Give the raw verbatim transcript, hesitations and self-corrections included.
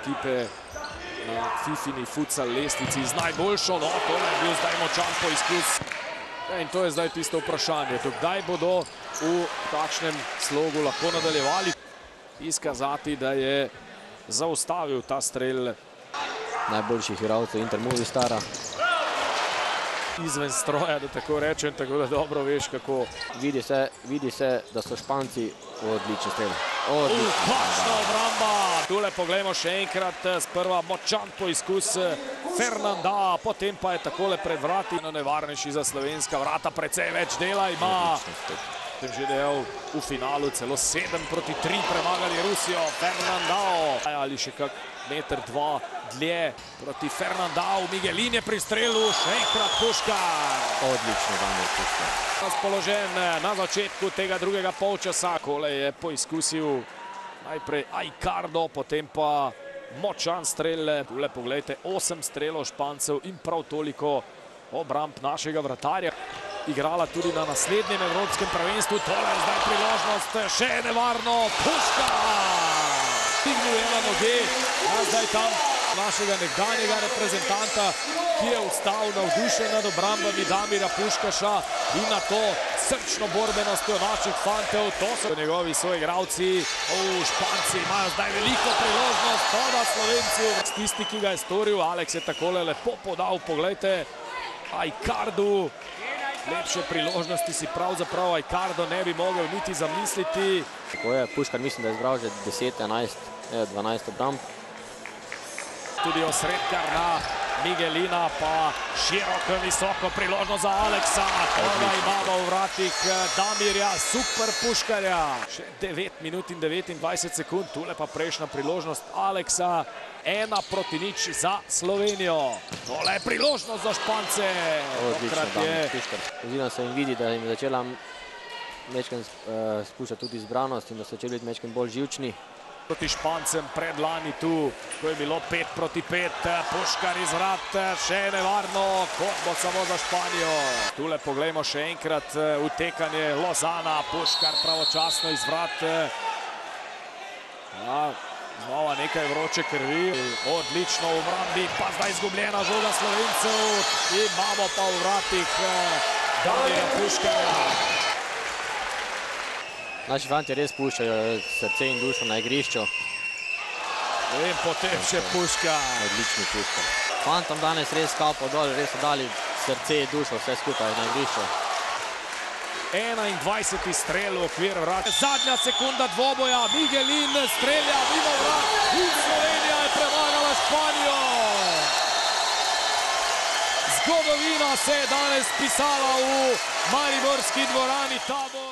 ekipe na Fifini futsal lestvici z najboljšo. No, to je bil zdaj močan poizkus. In to je zdaj tisto vprašanje. Kdaj bodo v takšnem slogu lahko nadaljevali? Izkazati, da je zaustavil ta strel najboljših igralcev Inter Movistara. Izven stroja, da tako rečem, tako da dobro veš, kako. Vidi se, vidi se, da so Španci odlični streli. Kakšna obramba! Tule poglejmo še enkrat, sprva močan poizkus Fernanda, potem pa je takole pred vrati. Nevarnejši za slovenska vrata, precej več dela ima. Tem že dejal, v finalu celo sedem proti tri premagali Rusijo. Fernandao. Ali še kak meter, dva dlje proti Fernandao. Miguelin je pri strelu, še enkrat Puškar. Odlično, Damir Puškar. Razpoložen na začetku tega drugega polčasa. Kole je poizkusil najprej Aicardo, potem pa močan strel. Tule poglejte, osem strelov Špancev in prav toliko obramb našega vratarja. Igrala tudi na naslednjem evropskem prvenstvu. Tole je zdaj priložnost, še nevarno. Puškar! Stignil je na noge, a zdaj tam našega nekdanjega reprezentanta, ki je vstal navdušen nad obrambami Damira Puškaša in na to srčno borbenostjo naših fantev. To so njegovi soigralci. Španci imajo zdaj veliko priložnost, to da Slovenci. Tisti, ki ga je storil, Alex je takole lepo podal, poglejte, Aicardu. Lepše priložnosti si pravzaprav Aicardo ne bi mogel niti zamisliti. Tako je, Puškar mislim, da je zbral že deset, enajst, dvanajst obramb. Tudi osredkar na Miguelina, pa široko, visoko priložnost za Aleksa. Toga imamo v vratih Damirja, super Puškarja. Še devet minut in devetindvajset sekund, tule pa prejšnja priložnost Aleksa. Ena proti nič za Slovenijo. Tole je priložnost za Špance. Odlično, Damir Puškar. Oziroma se jim vidi, da jim je začela mečken spuščati tudi izbranost in da so začeli biti mečken bolj živčni. Proti Špancem predlani tu, ko je bilo pet proti pet, Puškar iz vrat, še nevarno, kot bo samo za Španijo. Tule poglejmo še enkrat utekanje Lozana, Puškar pravočasno iz vrat. Znova nekaj vroče krvi, odlično v obrambi, pa zdaj izgubljena žoga Slovencev. Imamo pa v vratih Damirja Puškarja. Naši fanti res puščajo srce in dušo na igrišču. In potem še Puškar. Odlični Puškar. Fantom danes res kapo dol, res so dali srce in dušo vse skupaj na igrišču. enaindvajseti strel v okvir vrat. Zadnja sekunda dvoboja, Miguelin strelja mimo vrat in Slovenija je premagala Španijo. Zgodovina se je danes pisala v mariborski dvorani Tabor.